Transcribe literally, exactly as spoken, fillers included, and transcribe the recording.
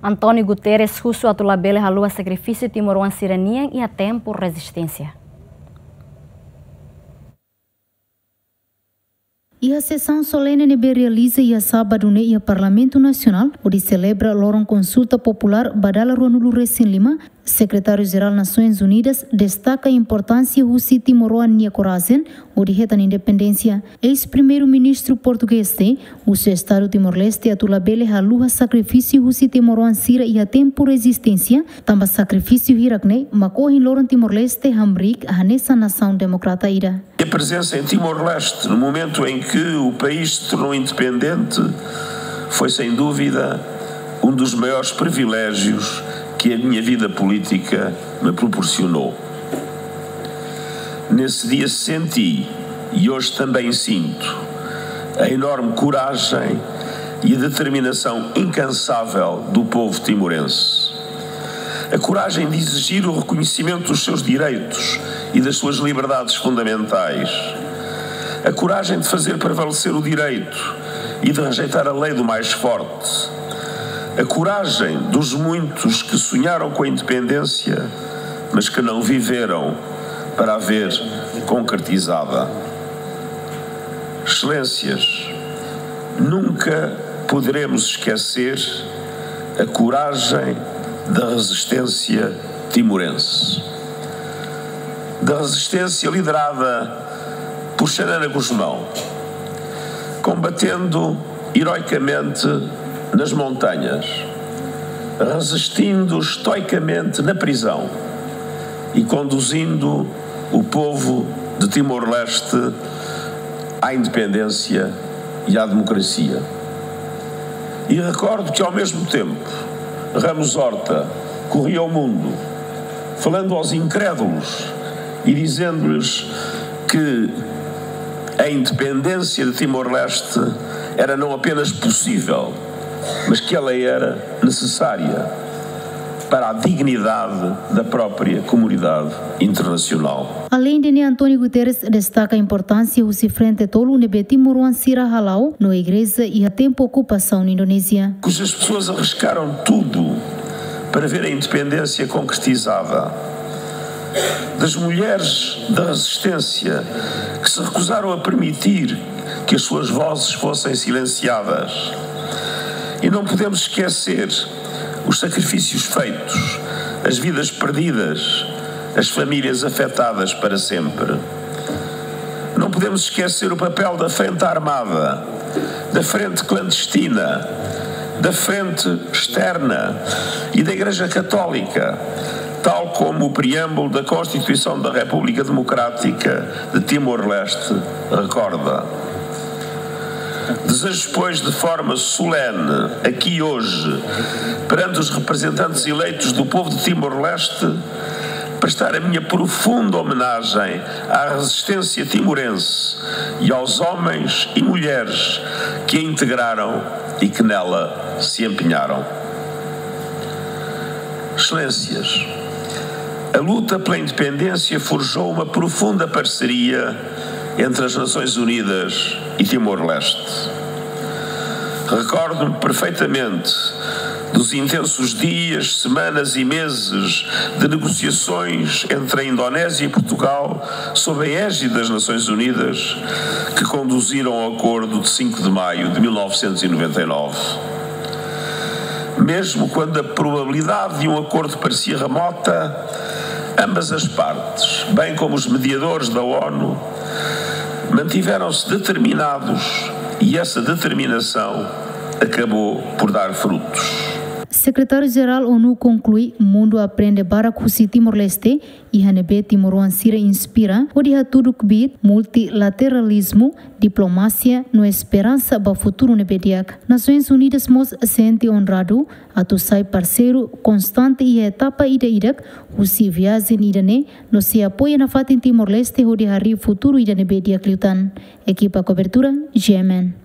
António Guterres husu atu labele haluha sakrifísiu timoroan sira-nian iha tempu rezisténsia. Iha sesaun solene ne'ebé realiza iha sábadu ne'e iha Parlamentu Nasionál, hodi selebra loron konsulta populár ba dala ruanulu-resin-lima, Sekretáriu-Jerál Nasoins Unidas destaka importánsia husi timoroan nia korajen hodi hetan independénsia. Eis-Primeiru-Ministru portugés ne'e husu Estadu Timor-Leste atu labele haluha sakrifísiu husi timoroan sira iha tempu rezisténsia, tanba sakrifísiu hirak ne'e mak ohin loron Timor-Leste hamriik hanesan nasaun demokrátiku ida. A presença em Timor-Leste, no momento em que o país se tornou independente, foi sem dúvida um dos maiores privilégios que a minha vida política me proporcionou. Nesse dia senti, e hoje também sinto, a enorme coragem e a determinação incansável do povo timorense. A coragem de exigir o reconhecimento dos seus direitos e das suas liberdades fundamentais. A coragem de fazer prevalecer o direito e de rejeitar a lei do mais forte. A coragem dos muitos que sonharam com a independência, mas que não viveram para a ver concretizada. Excelências, nunca poderemos esquecer a coragem da resistência timorense. Da resistência liderada por Xanana Gusmão, combatendo heroicamente nas montanhas, resistindo estoicamente na prisão e conduzindo o povo de Timor-Leste à independência e à democracia. E recordo que, ao mesmo tempo, Ramos Horta corria o mundo, falando aos incrédulos e dizendo-lhes que a independência de Timor-Leste era não apenas possível, mas que ela era necessária para a dignidade da própria comunidade internacional. Aleinde ne'e, António Guterres destaka importánsia husi frente tolu ne'ebé timoroan sira hala'o no igreja iha tempu okupasaun Indonézia. Cujas pessoas arriscaram tudo para ver a independência concretizada. Das mulheres da resistência que se recusaram a permitir que as suas vozes fossem silenciadas. E não podemos esquecer os sacrifícios feitos, as vidas perdidas, as famílias afetadas para sempre. Não podemos esquecer o papel da frente armada, da frente clandestina, da frente externa e da Igreja Católica, tal como o preâmbulo da Constituição da República Democrática de Timor-Leste recorda. Desejo, pois, de forma solene, aqui hoje, perante os representantes eleitos do povo de Timor-Leste, prestar a minha profunda homenagem à resistência timorense e aos homens e mulheres que a integraram e que nela se empenharam. Excelências, a luta pela independência forjou uma profunda parceria entre as Nações Unidas e Timor-Leste. Recordo-me perfeitamente dos intensos dias, semanas e meses de negociações entre a Indonésia e Portugal, sob a égide das Nações Unidas, que conduziram ao acordo de cinco de maio de mil novecentos e noventa e nove. Mesmo quando a probabilidade de um acordo parecia remota, ambas as partes, bem como os mediadores da ONU, mantiveram-se determinados e essa determinação acabou por dar frutos. Sekretáriu-Jerál ONU konklui, mundu aprende barak husi Timor-Leste, iha ne'ebé timoroan sira inspira hodi hatudu kbiit multilateralizmu, diplomasia no esperansa ba futuru ne'ebé di'ak. Nasoins Unidas mós sente onradu atu sai parseiru konstante iha etapa ida-idak husi viajen ida-ne'e, no sei apoia nafatin Timor-Leste hodi harii futuru ida ne'ebé di'ak liután. Ekipa kobertura, G M N.